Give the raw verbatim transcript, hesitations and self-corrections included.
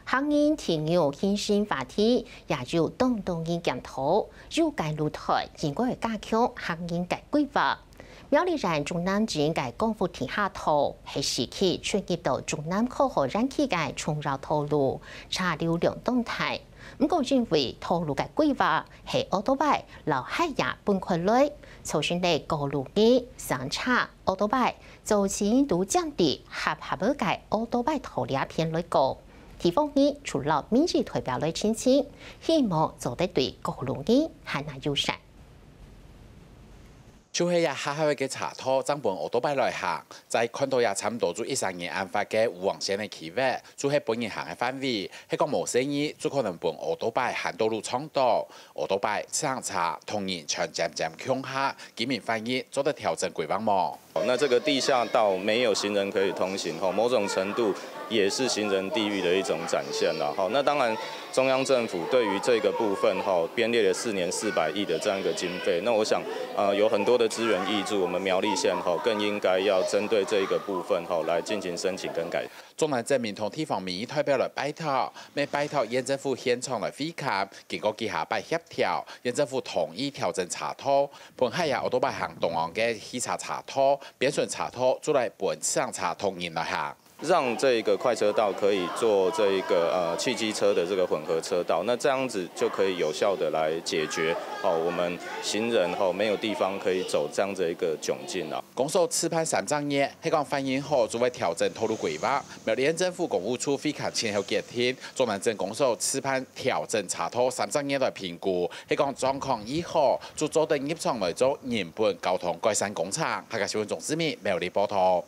行人停留興盛話題，也有當多人檢討，有个路段應該加強行人个規劃。苗栗縣竹南鎮个光復地下道，係市區出入到竹南科學園區个重要道路，車流量當大。毋過因為道路个規劃係奧多拜摎鞋仔分開來，造成了過路人、三輪車、奧多拜，造成堵正在狹狹仔个奧多拜道這片來過。 地方人除了民意代表來澄清，希望做得對過路人還較友善。就係這狹狹个車道正分奧多拜來行，再看到這差毋多就一儕人恁闊个烏黃線个區域，就係分人行个範圍，係講無細義，就可能分奧多拜行到路撞到，奧多拜、自行車同人全尖尖共下，居民反映做得調整規劃無？ 那這個地下道沒有行人可以通行，吼，某種程度也是行人地獄的一種展現啦，吼。那當然，中央政府對於這個部分，吼，編列了四年四百億的這樣一個經費，那我想，呃，有很多的資源挹注，我們苗栗縣，吼，更應該要針對這個部分，吼，來進行申請跟改善。竹南鎮民同地方民意代表來拜託，乜拜託縣政府現場來會勘，經過幾下擺協調，縣政府同意調整車道， 分鞋仔奧多拜行中央个汽車車道，變成車道就來分自行車同人來行。讓這個快車道可以做這一個，呃，汽機車的這個混合車道，那這樣子就可以有效地來解決，哦，我們行人，哦，沒有地方可以走這樣子一個窘境啊。公所試辦三隻月，係講反應好就會調整道路規劃。苗栗縣政府工務處會勘前後決定，竹南鎮公所試辦調整車道三隻月來評估，係講狀況已好， 就做得入場來做人本交通改善工程。客家新聞鍾志明苗栗報導。